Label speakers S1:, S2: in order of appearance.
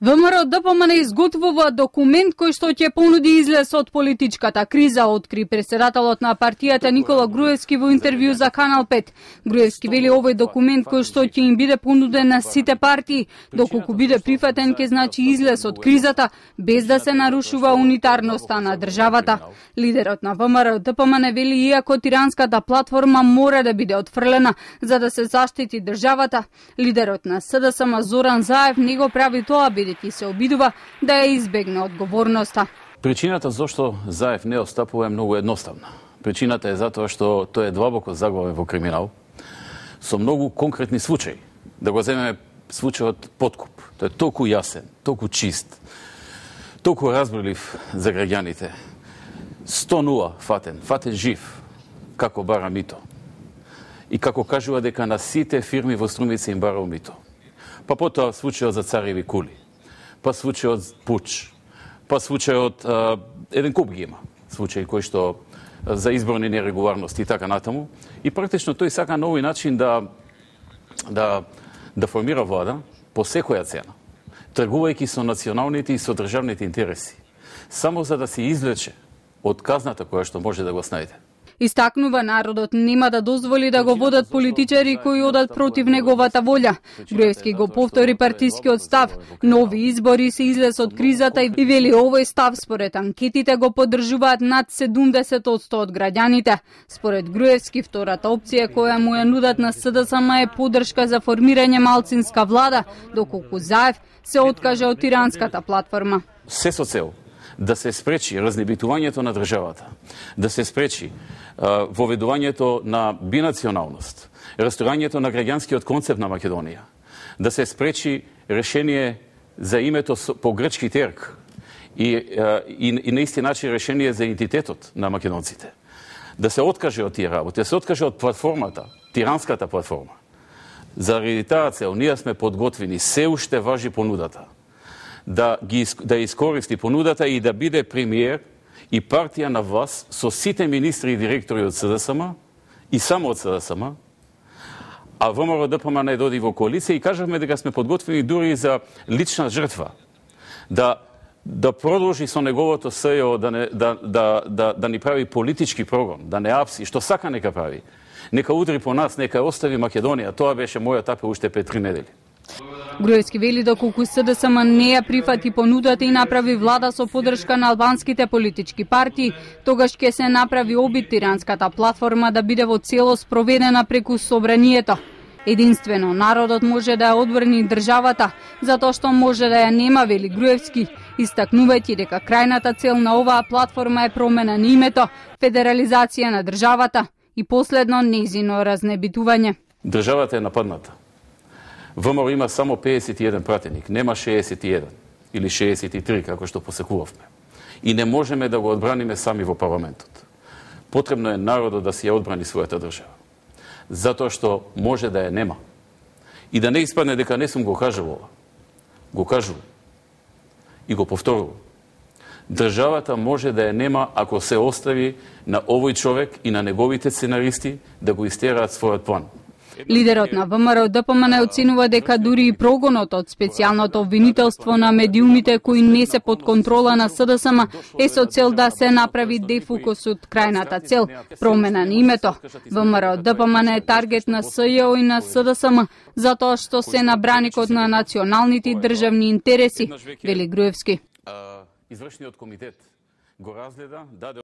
S1: ВМРО ДПМН изготвува документ кој што ќе понуди излез од политичката криза, откри председателот на партијата Никола Груевски во интервју за Канал 5. Груевски вели овој документ кој што ќе им биде понуден на сите партии, доколку биде прифатен ќе значи излез од кризата без да се нарушува унитарноста на државата. Лидерот на ВМРО ДПМН вели иако тиранската платформа мора да биде отфрлена за да се заштити државата, лидерот на СДСМ Зоран Заев не го прави тоа бидејќи се обидува да ја избегне одговорноста.
S2: Причината зашто Заев не отстапува е многу едноставна. Причината е затоа што тој е длабоко заглавен во криминал со многу конкретни случаи. Да го земеме случајот Подкуп. Тој е толку јасен, толку чист, толку разборлив за граѓаните. 100-0 фатен жив, како бара мито. И како кажува дека на сите фирми во Струмица им барал мито. Па потоа случајот за цареви кули, па случајот Пуч, па случајот еден куп ги има, случаи кои што за изборни нерегуларности и така натаму. И практично тој сака на овој начин да формира влада по секоја цена, тргувајќи со националните и со државните интереси, само за да се извлече од казната која што може да го снајде.
S1: Истакнува народот нема да дозволи да го водат политичари кои одат против неговата волја. Груевски го повтори партискиот став. Нови избори се излез од кризата и вели овој став според анкетите го поддржуваат над 70% од граѓаните. Според Груевски, втората опција која му ја нудат на СДСМ е поддршка за формирање малцинска влада, доколку Заев се откаже од тиранската платформа.
S2: Се со цел да се спречи разнебитувањето на државата, да се спречи воведувањето на бинационалност, расторањето на граѓанскиот концепт на Македонија, да се спречи решение за името по грчки терк и на исти начин решение за идентитетот на македонците, да се откаже од тие работи, да се откаже од платформата, тиранската платформа. Заради таа цел ние сме подготвени, се уште важи понудата, да искористи понудата и да биде премиер и партија на власт со сите министри и директори од СДСМ и само од СДСМ, а ВМРО ДПМН доди во коалиција и кажавме дека сме подготвени дури за лична жртва, да продолжи со неговото СЈО да ни прави политички прогон, да не апси, што сака нека прави. Нека удри по нас, нека остави Македонија. Тоа беше мојот апел уште пред 3 недели.
S1: Груевски вели доколку СДСМ не ја прифати понудата и направи влада со поддршка на албанските политички партии, тогаш ќе се направи обид тиранската платформа да биде во целост проведена преку собранието. Единствено народот може да ја одбрани државата, затоа што може да ја нема, вели Груевски, истакнувајќи дека крајната цел на оваа платформа е промена на името, федерализација на државата и последно нејзино разнебитување.
S2: Државата е нападната. ВМРО има само 51 пратеник, нема 61 или 63, како што посекувавме. И не можеме да го одбраниме сами во парламентот. Потребно е народот да си ја одбрани својата држава. Затоа што може да ја нема. И да не испадне дека не сум го кажувала. Го кажувам. И го повторувам. Државата може да ја нема ако се остави на овој човек и на неговите сценаристи да го истераат својот план.
S1: Лидерот на ВМРО ДПМН оценува дека дури и прогонот од специјалното обвинителство на медиумите кои не се под контрола на СДСМ е со цел да се направи дефокус од крајната цел, промена на името. ВМРО ДПМН е таргет на СЈО и на СДСМ затоа што се на браникот на националните и државни интереси, вели Груевски.
S2: Извршниот комитет го разгледа, даде